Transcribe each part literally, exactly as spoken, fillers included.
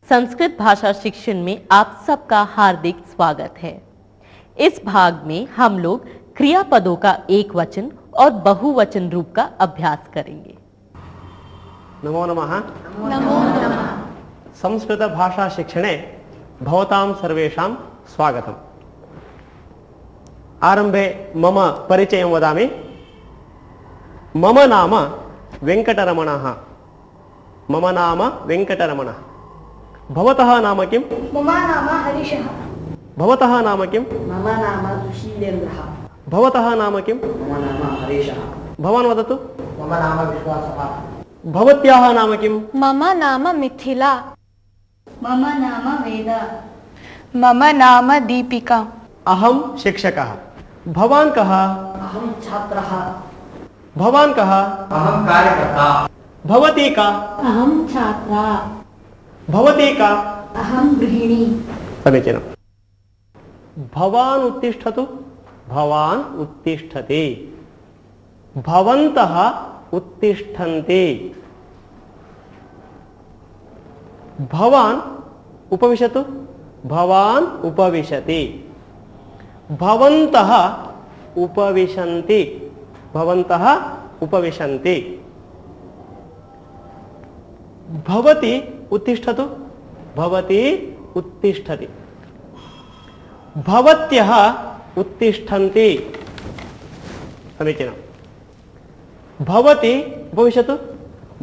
संस्कृत भाषा शिक्षण में आप सबका हार्दिक स्वागत है। इस भाग में हम लोग क्रियापदों का एक वचन और बहुवचन रूप का अभ्यास करेंगे। नमो नमः। नमो नमः। संस्कृत भाषा शिक्षणे भवतां सर्वेषां स्वागतम्। आरंभे मम परिचयं वदामि। मम नाम वेंकटरमणः। मम नाम वेंकटरमणः। भवतः नाम किं? मम नाम हरीशः। भवतः नाम किं? मम नाम सुशीलेन्द्रः। भवतः नाम किं? मम नाम हरीशः। भवान् वदतु। मम नाम विश्वासः। भवत्याः नाम किं? मम नाम मिथिला। मम नाम वेदा। मम नाम दीपिका। अहं शिक्षकः। भवान् कः? अहं छात्रः। भवान् कः? अहं कार्यकर्ता। भवती का? अहं छात्रा। भवती का? अहं गृहिणी। समीचीनम्। भवान् उत्तिष्ठतु। भवान् उत्तिष्ठति। भवन्तः उत्तिष्ठन्ति। भवान् उपविशतु। भवान् उपविशति। भवन्तः उपविशन्ति। भवन्तः उपविशन्ति। भवती उत्तिष्ठतु। भवती उत्तिष्ठति। भवत्यः उत्तिष्ठन्ति। समीचीनम्। भवती उपविशतु।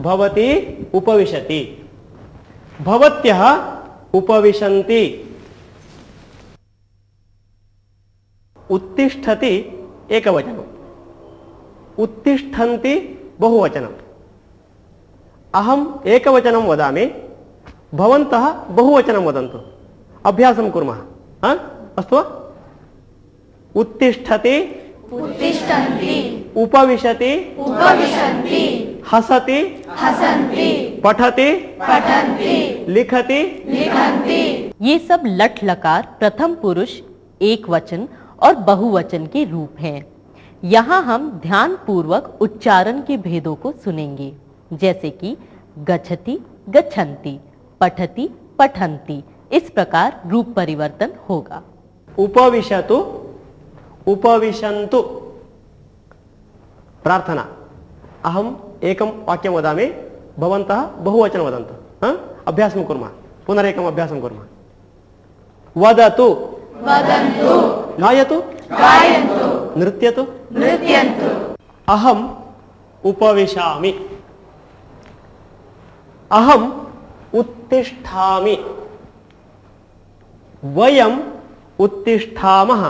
भवती उपविशति। भवत्यः उपविशन्ति। उत्तिष्ठति एकवचनम्। उत्तिष्ठन्ति बहुवचनम्। अहम् एकवचनं वदामि, भवन्तः बहुवचनं वदन्तु। अभ्यासं कुर्मः। हा? अस्तु वा? उत्तिष्ठति। उत्तिष्ठन्ति। उपविशति। उपविशन्ति। हसति। हसन्ति। पठति। पठन्ति। लिखति। लिखन्ति। ये सब लट लकार प्रथम पुरुष एक वचन और बहुवचन के रूप हैं। यहाँ हम ध्यान पूर्वक उच्चारण के भेदों को सुनेंगे, जैसे कि गच्छति गच्छन्ति, पठति पठन्ति। इस प्रकार रूप परिवर्तन होगा। उपविशतु। उपविशन्तु। प्रार्थना। अहम् एकं वाक्यं वदामि, भवन्तः बहुवचनं वदन्तु। हा? अभ्यासं कुर्मः। पुनरेकम् अभ्यासं कुर्मः। वदतु। वदन्तु। गायतु। गायन्तु। नृत्यतु। नृत्यन्तु। अहम् उपविशामि। अहम् उत्तिष्ठामि। वयम् उत्तिष्ठामः।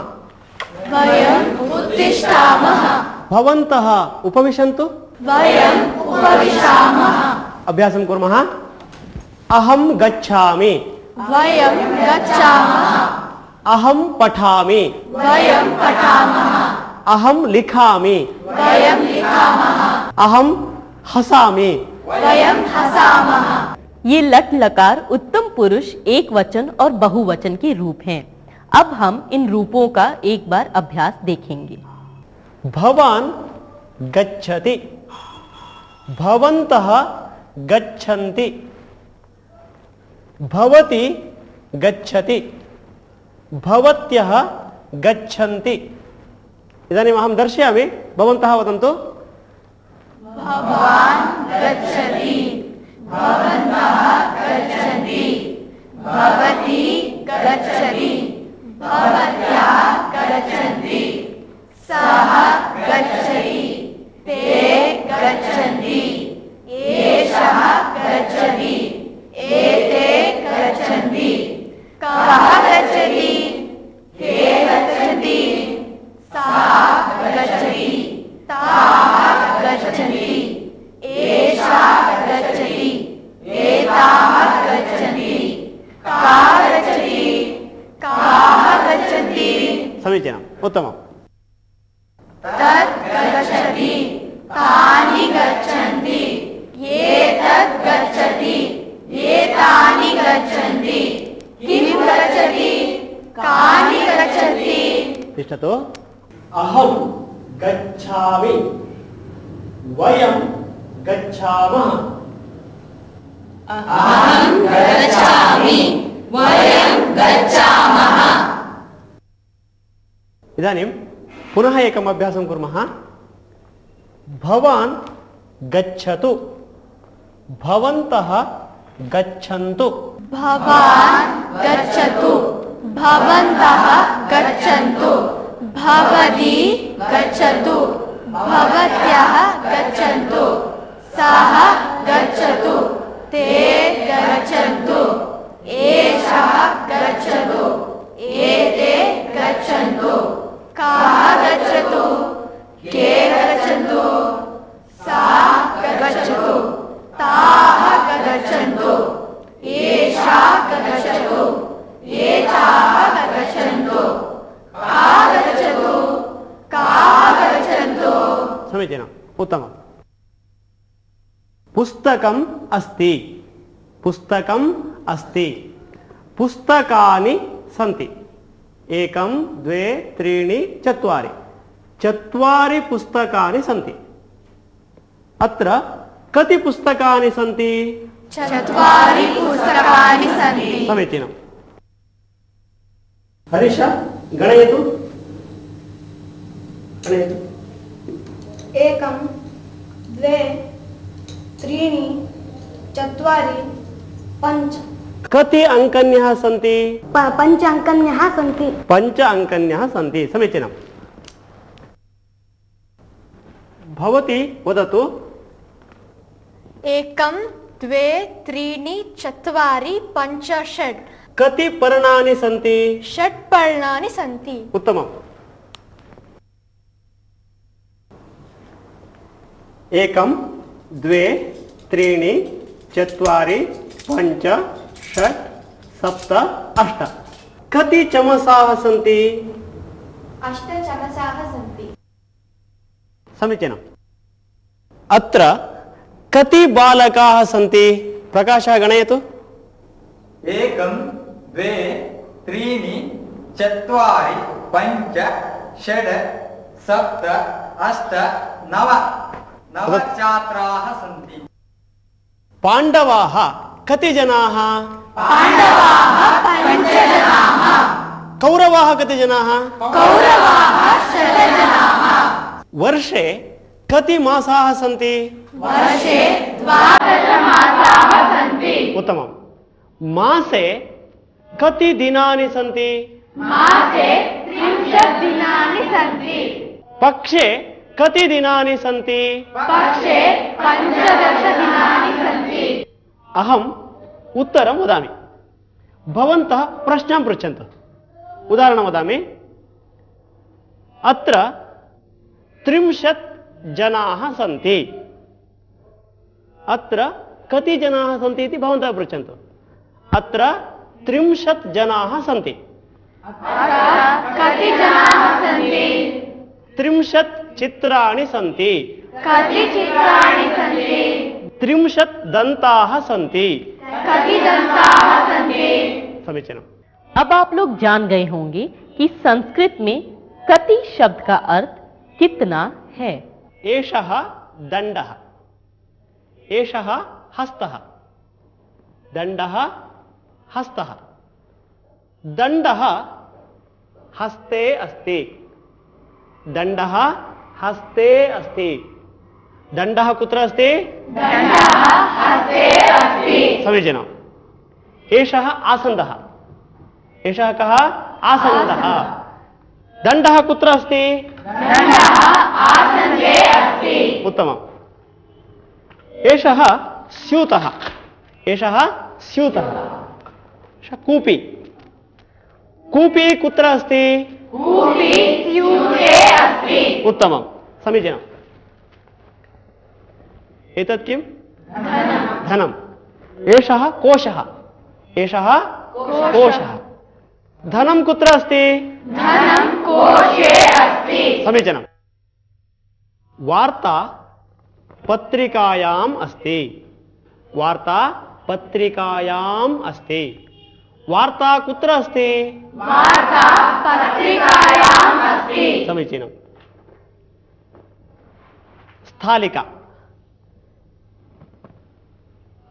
वयम् उत्तिष्ठामः। भवन्तः उपविशन्तु। वयम् उपविशामः। अभ्यासं कुर्मः। अहं गच्छामि। वयं गच्छामः। अहं पठामि। वयं पठामः। अहं लिखामि। वयं लिखामः। अहं हसामि। वयं हसामः। ये लट लकार उत्तम पुरुष एक वचन और बहुवचन के रूप हैं। अब हम इन रूपों का एक बार अभ्यास देखेंगे। भवान् गच्छति। भवन्तः गच्छन्ति। भवती गच्छति। भवत्यः गच्छन्ति। इदानीम् अहं दर्शयामि, भवन्तः वदन्तु। भवान् गच्छति। भवन्तः गच्छन्ति। भवती गच्छति। भवत्याः गच्छन्ति। सः गच्छति। ते गच्छन्ति। एषः गच्छति। एते गच्छन्ति। कः गच्छति? के गच्छन्ति। सा गच्छति। ताः गच्छन्ति। एषा गच्छति। एताः गच्छन्ति। का गच्छति। काः गच्छन्ति। समीचीनम्। उत्तमम्। तत् गच्छति। तानि गच्छन्ति। एतत् गच्छति। एतानि गच्छन्ति। किं गच्छति। कानि गच्छन्ति। तिष्ठतु। अहं गच्छामि। वयं गच्छामः। अहं गच्छामि। इदानीं पुनः एकम् अभ्यासं कुर्मः। भवान् गच्छतु, भवन्तः गच्छन्तु। भवान् गच्छतु, भवन्तः गच्छन्तु, भवती गच्छतु, भवत्यः गच्छन्तु, सः गच्छतु, ते गच्छन्तु, एषः गच्छतु, एते गच्छन्तु, कः गच्छतु, के गच्छन्तु, सा गच्छतु, ताः गच्छन्तु, एषा गच्छतु, एताः गच्छन्तु, का गच्छतु, काः गच्छन्तु। समीचीनम्, उत्तमम्। पुस्तकम् अस्ति, पुस्तकम् अस्ति, पुस्तकानि सन्ति। एकं द्वे त्रीणि चत्वारि, चत्वारि पुस्तकानि सन्ति। अत्र कति पुस्तकानि सन्ति? चत्वारि पुस्तकानि सन्ति। समीचीनम्। हरीश गणयतु, गणयतु। एकं द्वे त्रीणि चत्वारि पञ्च। कति अङ्कन्यः सन्ति? पञ्च अङ्कन्यः सन्ति। पञ्च अङ्कन्यः सन्ति। समीचीनम्। भवती वदतु। एकं द्वे त्रीणि चत्वारि पञ्च षट्। कति पर्णानि सन्ति? षट् पर्णानि सन्ति। उत्तमम्। एकं द्वे त्रीणि चत्वारि पञ्च षट् सप्त अष्ट। कति चमसाः सन्ति? अष्ट चमसाः सन्ति। समीचीनम्। अत्र कति बालकाः सन्ति? प्रकाशः गणयतु। एकं द्वे त्रीणि चत्वारि पञ्च षड् सप्त अष्ट नव। नव छात्राः सन्ति। पाण्डवाः कति जनाः? पाण्डवाः पञ्चजनाः। कौरवाः कति जनाः? कौरवाः षड्जनाः। वर्षे कति मासाः सन्ति? वर्षे द्वादशमासाः सन्ति। उत्तमम्। मासे कति दिनानि सन्ति? मासे त्रिंशत् दिनानि सन्ति। पक्षे कति दिनानि सन्ति? पक्षे पञ्चदश दिनानि सन्ति। अहम् उत्तरं वदामि, भवन्तः प्रश्नं पृच्छन्तु। उदाहरणं वदामि। अत्र त्रिंशत् जनाः सन्ति। अत्र कति जनाः सन्ति इति भवन्तः पृच्छन्तु। अत्र त्रिंशत् जनाः सन्ति। कति जनाः सन्ति? त्रिंशत् चित्राणि सन्ति। कति चित्राणि सन्ति? त्रिंशत् दन्ताः सन्ति। कति दन्ताः सन्ति? समीचीनम्। अब आप लोग जान गए होंगे कि संस्कृत में कति शब्द का अर्थ कितना है। एषः दण्डः, एषः हस्तः, दण्डः हस्तः। दण्डः हस्ते अस्ति, दण्डः हस्ते अस्ति। दण्डः कुत्र अस्ति? दण्डः हस्ते अस्ति। समीचीनम्। एषः आसन्दः, एषः कः? आसन्दः। दण्डः कुत्र अस्ति? दण्डः आसन्दे अस्ति। उत्तमम्। एषः स्यूतः, एषः स्यूतः। एषः कूपी, कूपी कुत्र अस्ति? कूपी स्यूते अस्ति। उत्तमम्, समीचीनम्। एतत् किं? धनम्। एषः कोशः, एषः कोशः। धनं कुत्र अस्ति? धनं कोशे अस्ति। समीचीनम्। वार्ता पत्रिकायाम् अस्ति, वार्ता पत्रिकायाम् अस्ति। वार्ता कुत्र अस्ति? वार्ता पत्रिकायाम् अस्ति। समीचीनम्। स्थालिका।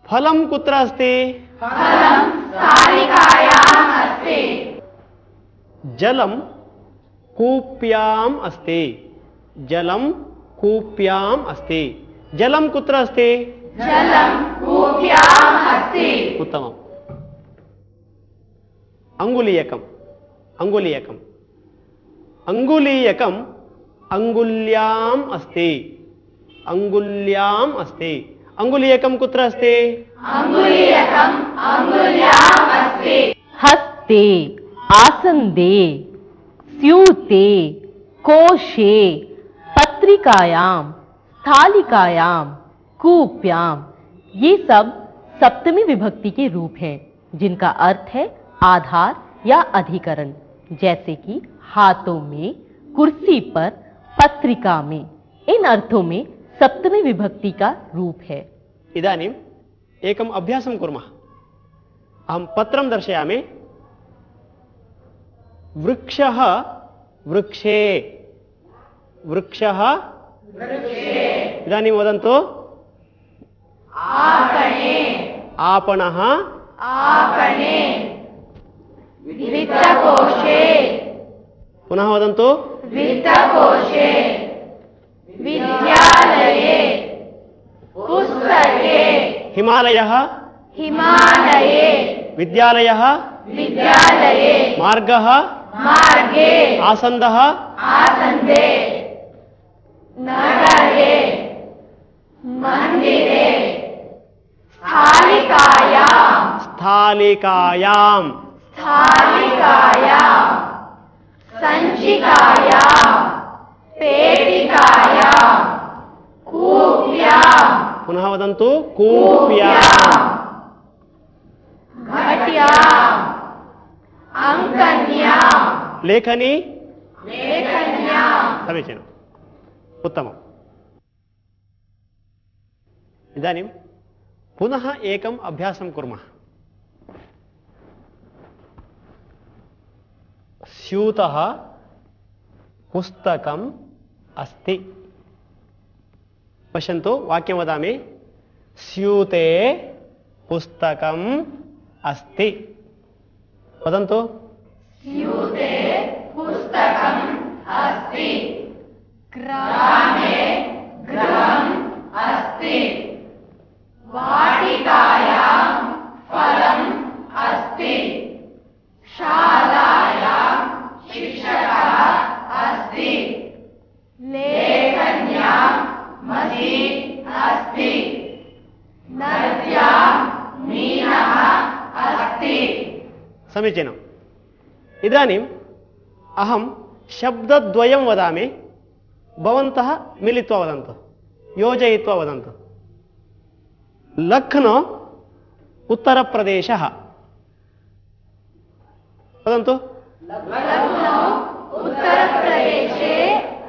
फलं कुत्र अस्ति? फलं स्थालिकायाम् अस्ति। जलं कूप्याम् अस्ति। जलं कूप्याम् अस्ति। जलं कुत्र अस्ति? जलं कूप्याम् अस्ति। उत्तमम्। अंगुलीयकम् अंगुलीयकम् अंगुलीयकम् अंगुल्याम् अस्ति। अंगुल्याम् अस्ति। अंगुलीयकं कुत्र अस्ति? अंगुलीयकम् अंगुल्याम् अस्ति। हस्ते, आसन्दे, स्यूते, कोशे, पत्रिकायां, स्थालिकायां, कूप्यां, ये सब सप्तमी विभक्ति के रूप हैं जिनका अर्थ है आधार या अधिकरण, जैसे कि हाथों में, कुर्सी पर, पत्रिका में। इन अर्थों में सप्तमी विभक्ति का रूप है। इदानीम् एकम् अभ्यासं कुर्मः। अहं पत्रं दर्शयामि। वृक्षः वृक्षे। वृक्षः वृक्षे। इदानीं वदन्तु। आपणे। आपणः आपणे। वित्तकोशे। पुनः वदन्तु। वित्तकोशे। विद्यालये। पुस्तके। हिमालयः हिमालये। विद्यालयः विद्यालये। मार्गः मार्गे। आसन्दः आसन्दे। नगरे। मन्दिरे। स्थालिकायां। स्थालिकायां स्थालिकायां। सञ्चिकायां। पेटिकायां। कूप्यां। पुनः वदन्तु। कूप्यां। घट्यां। अङ्कन्यां। लेखनी लेखन्यां। समीचीनम्। उत्तमम्। इदानीं पुनः एकम् अभ्यासं कुर्मः। स्यूतः पुस्तकम् अस्ति। पश्यन्तु, वाक्यं वदामि। स्यूते पुस्तकम् अस्ति। वदन्तु। स्यूते पुस्तकम् अस्ति। ग्रामे गृहम् अस्ति। वाटिकायां फलम् अस्ति। शालायां शिक्षकः अस्ति। लेखन्यां मषीन् अस्ति। नद्यां मीनः अस्ति। समीचीनम्। इदानीम् अहं शब्दद्वयं वदामि, भवन्तः मिलित्वा वदन्तु, योजयित्वा वदन्तु। लख्नौ उत्तरप्रदेशः। वदन्तु। लख्नौ उत्तरप्रदेशे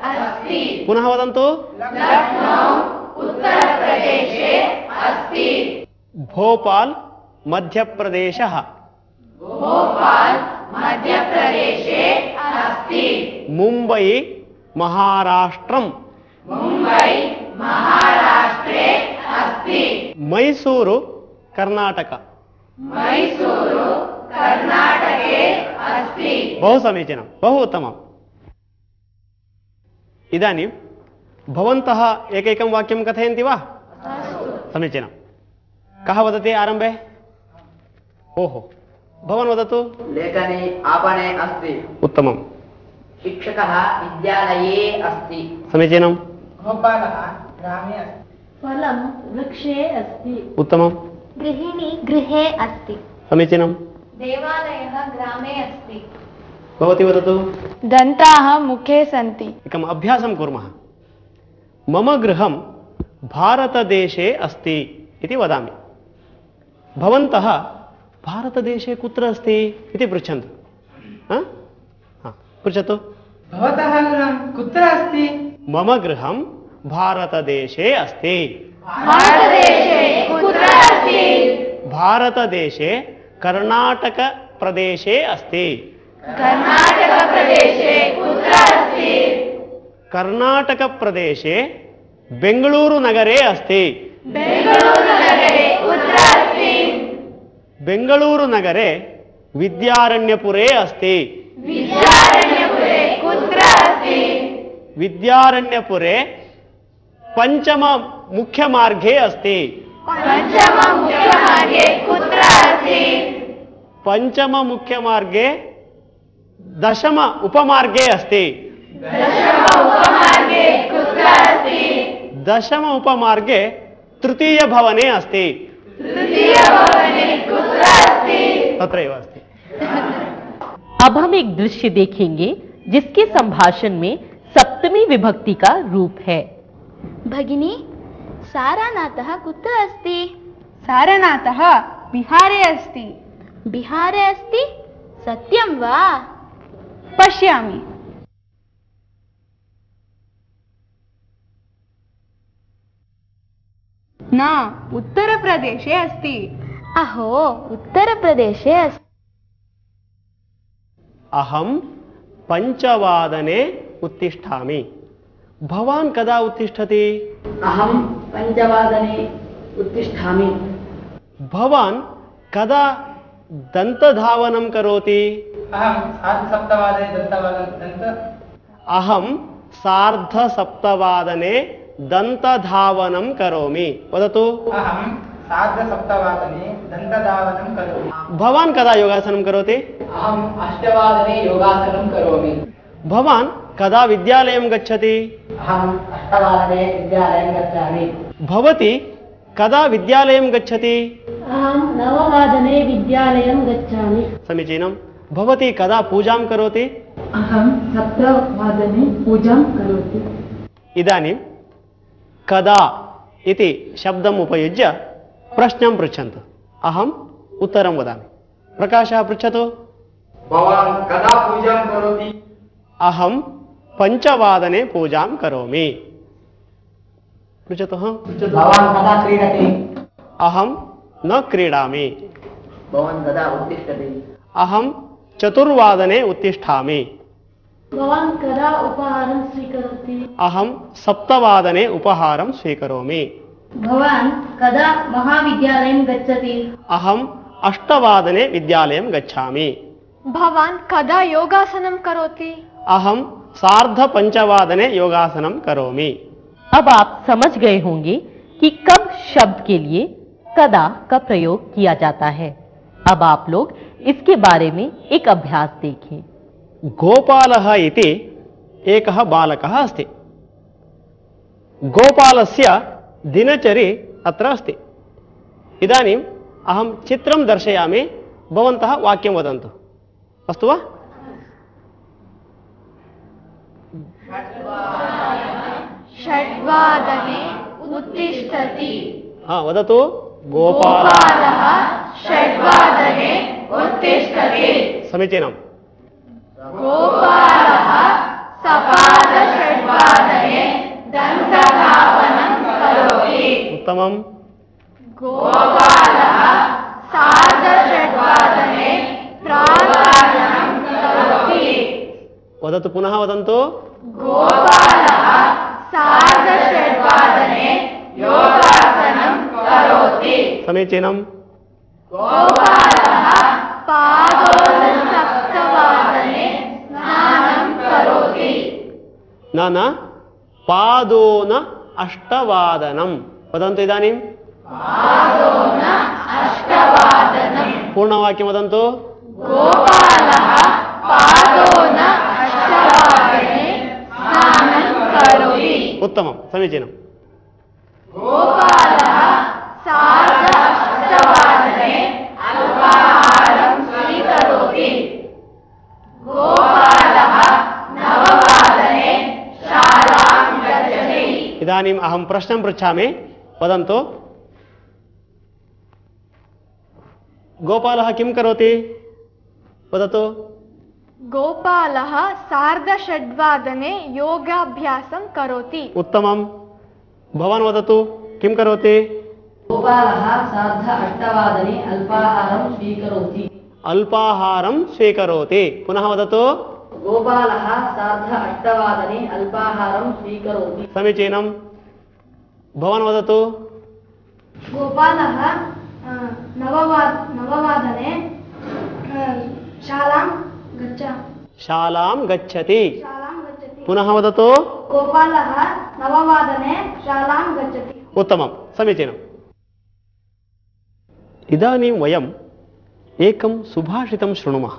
अस्ति। पुनः वदन्तु। लख्नौ उत्तरप्रदेशे अस्ति। भोपाल मध्यप्रदेशः। भोपाल मध्यप्रदेशे अस्ति। मुम्बै महाराष्ट्रम्। मुम्बै महाराष्ट्रे अस्ति। मैसूरु कर्नाटक। मैसूरु कर्नाटके अस्ति। बहु समीचीनं, बहु उत्तमम्। इदानीं भवन्तः एकैकं वाक्यं कथयन्ति वा? समीचीनं। कः वदति आरम्भे? ओहो, भवान् वदतु। लेखनी आपणे अस्ति। उत्तमम्। शिक्षकः विद्यालये अस्ति। समीचीनं। गोपालः ग्रामे अस्ति। फलं वृक्षे अस्ति। उत्तमं। गृहिणी गृहे अस्ति। समीचीनं। देवालयः ग्रामे अस्ति। भवती वदतु। दन्ताः मुखे सन्ति। एकम् अभ्यासं कुर्मः। मम गृहं भारतदेशे अस्ति इति वदामि। भवन्तः भारतदेशे कुत्र अस्ति इति पृच्छन्तु। हा? हा, पृच्छतु। भवतः गृहं कुत्र अस्ति? मम गृहं भारतदेशे अस्ति। भारतदेशे कुत्र अस्ति? भारतदेशे कर्णाटकप्रदेशे अस्ति। कर्णाटकप्रदेशे कुत्र अस्ति? कर्णाटकप्रदेशे बेङ्गळूरुनगरे अस्ति। बेङ्गळूरुनगरे कुत्र अस्ति? बेङ्गळूरुनगरे विद्यारण्यपुरे अस्ति। विद्यारण्यपुरे कुत्र विद्यारण्यपुरे पञ्चम मुख्यमार्गे अस्ति। पञ्चम मुख्यमार्गे कुत्र अस्ति? पञ्चम मुख्यमार्गे दशम उपमार्गे अस्ति। दशम उपमार्गे कुत्र अस्ति? दशम उपमार्गे तृतीय भवने अस्ति। तृतीय भवने कुत्र अस्ति? तत्रैव अस्ति। अब हम एक दृश्य देखेंगे जिसके संभाषण में सप्तमी विभक्ति का रूप है। भगिनी, सारनाथः कुत्र अस्ति? सारनाथः बिहारे अस्ति। बिहारे अस्ति? सत्यं वा? पश्यामि। न, उत्तरप्रदेशे अस्ति। अहो, उत्तरप्रदेशे अस्ति। अहं पञ्चवादने उत्तिष्ठामि। भवान् कदा उत्तिष्ठति? अहं पञ्चवादने उत्तिष्ठामि। भवान् कदा दन्तधावनं करोति? अहं सार्धसप्तवादने दन्तवादनं दन्त अहं सार्धसप्तवादने दन्तधावनं करोमि। वदतु। अहं सार्धसप्तवादने दन्तधावनं करोमि। भवान् कदा योगासनं करोति? अहम् अष्टवादने योगासनं करोमि। भवान् कदा विद्यालयं गच्छति? अहम् अष्टवादने विद्यालयं गच्छामि। भवती कदा विद्यालयं गच्छति? अहं नववादने विद्यालयं गच्छामि। समीचीनं। भवती कदा पूजां करोति? अहं सप्तवादने पूजां करोमि। इदानीं कदा इति शब्दम् उपयुज्य प्रश्नं पृच्छन्तु। अहम् उत्तरं वदामि। प्रकाशः पृच्छतु। भवान् कदा पूजां करोति? अहं पञ्चवादने पूजां करोमि। पृच्छतु। भवान् कदा क्रीडति? अहं न क्रीडामि। भवान् कदा उत्तिष्ठति? अहं चतुर्वादने उत्तिष्ठामि। भवान् कदा उपहारं स्वीकरोति? अहं सप्तवादने उपहारं स्वीकरोमि। भवान् कदा महाविद्यालयं गच्छति? अहम् अष्टवादने विद्यालयं गच्छामि। भवान् कदा योगासनं करोति? अहं सार्धपञ्चवादने योगासनं करोमि। अब आप समझ गए होंगे कि कब शब्द के लिए कदा का प्रयोग किया जाता है। अब आप लोग इसके बारे में एक अभ्यास देखें। गोपालः इति एकः बालकः अस्ति। गोपालस्य दिनचरी अत्र अस्ति। इदानीम् अहं चित्रं दर्शयामि, भवन्तः वाक्यं वदन्तु। अस्तु वा? षड्वादने उत्तिष्ठति। हा, वदतु। गोपालः षड्वादने उत्तिष्ठति। समीचीनं। गोपालः सपादषड्वादने दन्तधावनं करोति। उत्तमं। गोपालः सार्धषड्वादने प्राणायामं करोति। वदतु, पुनः वदन्तु। गोपालः सार्धषड्वादने योगासनं करोति। समीचीनं। गोपालः पादोनसप्तवादने स्नानं करोति। न न पादोन अष्टवादनं वदन्तु। इदानीं पादोन अष्टवादनं। पूर्णवाक्यं वदन्तु। गोपालः पादोन अष्टवादने स्नानं करोति। उत्तमं, समीचीनं। गोपालः सार्ध अष्टवादने अल्पाहारं स्वीकरोति। गोपालः नववादने शालां गच्छति। इदानीम् अहं प्रश्नं पृच्छामि, वदन्तु। गोपालः किं करोति? वदतु। गोपालः सार्धषड्वादने योगाभ्यासं करोति। उत्तमं। भवान् वदतु, किं करोति? गोपालः सार्ध अष्टवादने अल्पाहारं स्वीकरोति। अल्पाहारं स्वीकरोति। पुनः वदतु। गोपालः सार्ध अष्टवादने अल्पाहारं स्वीकरोति। समीचीनं। भवान् वदतु। गोपालः नववादने शालां गच्छ शालां गच्छति। शालां गच्छति। पुनः वदतु। गोपालः नववादने शालां गच्छति। उत्तमं, समीचीनम्। इदानीं वयम् एकं सुभाषितं शृणुमः।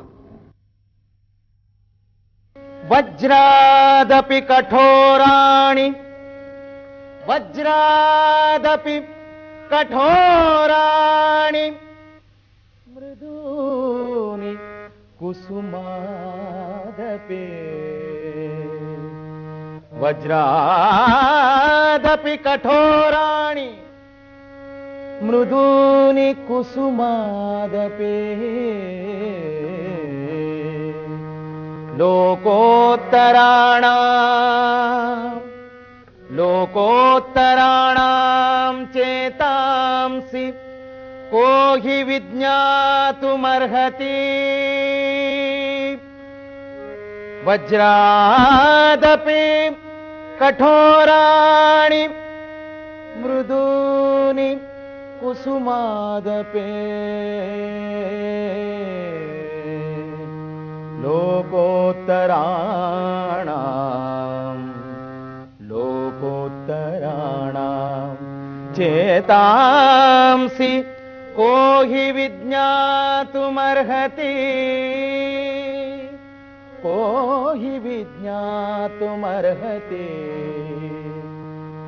वज्रादपि कठोराणि वज्रादपि कठोराणि मृदूनि कुसुमादपि वज्रादपि कठोराणि मृदूनि कुसुमादपि लोकोत्तराणां लोकोत्तराणां चेतांसि को हि विज्ञातुमर्हति वज्रादपि कठोराणि मृदूनि कुसुमादपि लोकोत्तराणां लोकोत्तराणां चेतांसि को हि विज्ञातुमर्हति को हि विज्ञातुमर्हति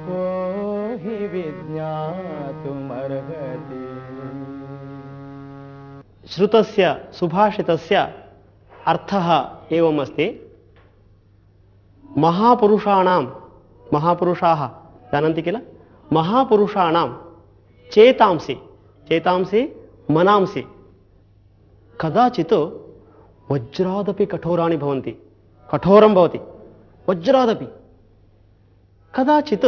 को हि विज्ञातुमर्हति। श्रुतस्य सुभाषितस्य अर्थः एवम् अस्ति। महापुरुषाणां महापुरुषाः जानन्ति किल, महापुरुषाणां चेतांसि चेतांसि मनांसि कदाचित् वज्रादपि कठोराणि भवन्ति, कठोरं भवति वज्रादपि, कदाचित्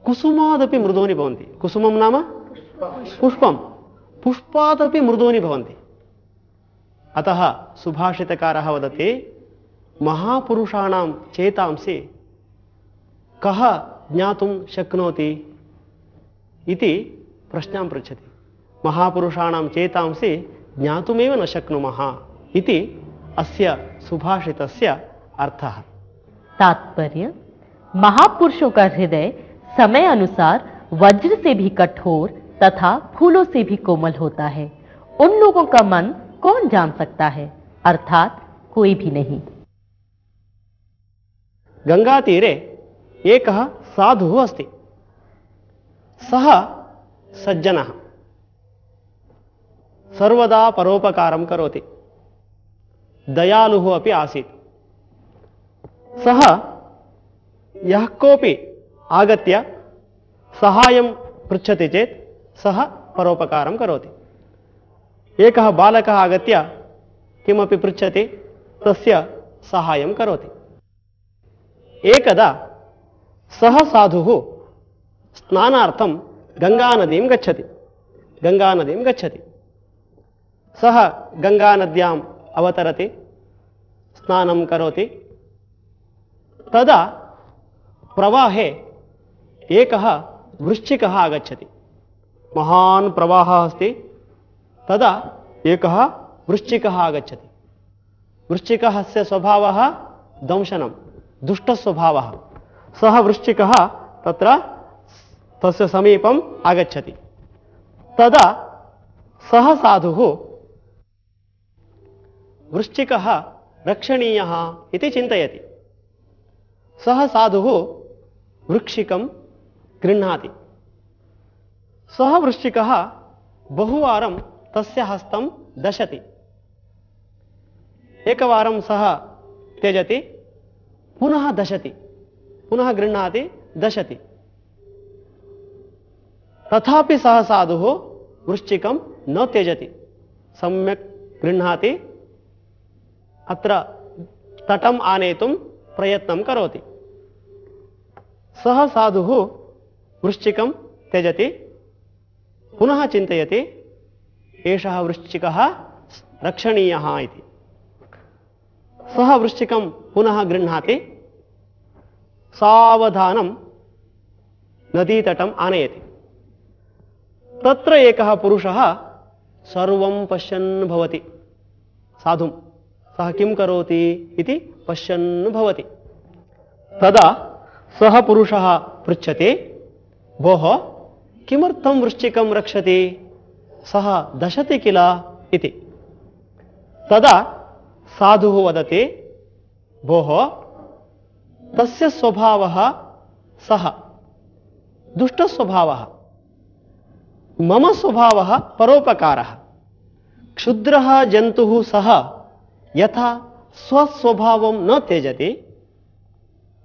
कुसुमादपि मृदूनि भवन्ति। कुसुमं नाम पुष्पं, पुष्पादपि मृदूनि भवन्ति। अतः सुभाषितकारः वदति महापुरुषाणां चेतांसि कः ज्ञातुं शक्नोति इति प्रश्नां पृच्छति। महापुरुषाणां चेतांसि ज्ञातुमेव न शक्नुमः इति अस्य सुभाषितस्य अर्थः। तात्पर्य, महापुरुषों का हृदय समय अनुसार वज्र से भी कठोर तथा फूलों से भी कोमल होता है। उन लोगों का मन कौन जान सकता है, अर्थात कोई भी नहीं। गंगा तीरे एकः साधुः अस्ति। सः सज्जनः, सर्वदा परोपकारं करोति, दयालुः अपि आसीत्। सः यः कोऽपि आगत्य सहायं पृच्छति चेत् सः परोपकारं करोति। एकः बालकः आगत्य किमपि पृच्छति, तस्य सहायं करोति। एकदा सः साधुः स्नानार्थं गङ्गानदीं गच्छति गङ्गानदीं गच्छति सः गङ्गानद्याम् अवतरति, स्नानं करोति। तदा प्रवाहे एकः वृश्चिकः आगच्छति। महान् प्रवाहः अस्ति। तदा एकः वृश्चिकः आगच्छति। वृश्चिकस्य स्वभावः दंशनं, दुष्टस्वभावः। सः वृश्चिकः तत्र तस्य समीपम् आगच्छति। तदा सः साधुः वृश्चिकः रक्षणीयः इति चिन्तयति। सः साधुः वृश्चिकं गृह्णाति। सः वृश्चिकः बहुवारं तस्य हस्तं दशति। एकवारं सः त्यजति, पुनः दशति, पुनः गृह्णाति, दशति। तथापि सः साधुः वृश्चिकं न त्यजति, सम्यक् गृह्णाति, अत्र तटम् आनेतुं प्रयत्नं करोति। सः साधुः वृश्चिकं त्यजति, पुनः चिन्तयति एषः वृश्चिकः रक्षणीयः इति। सः वृश्चिकं पुनः गृह्णाति, सावधानं नदीतटम् आनयति। तत्र एकः पुरुषः सर्वं पश्यन् भवति। साधुं सः किं करोति इति पश्यन् भवति। तदा सः पुरुषः पृच्छते, भोः किमर्थं वृश्चिकं रक्षति, सः दशति किल इति। तदा साधुः वदति, भोः तस्य स्वभावः सः दुष्टस्वभावः, मम स्वभावः परोपकारः। क्षुद्रः जन्तुः सः यथा स्वस्वभावं न त्यजति,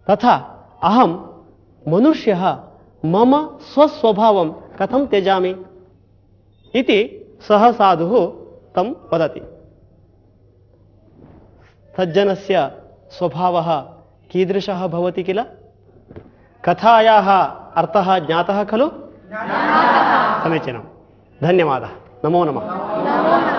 तथा अहं मनुष्यः मम स्वस्वभावं कथं त्यजामि इति सः साधुः तं वदति। सज्जनस्य स्वभावः कीदृशः भवति किल? कथायाः अर्थः ज्ञातः खलु? समीचीनं, धन्यवादः, नमो नमः।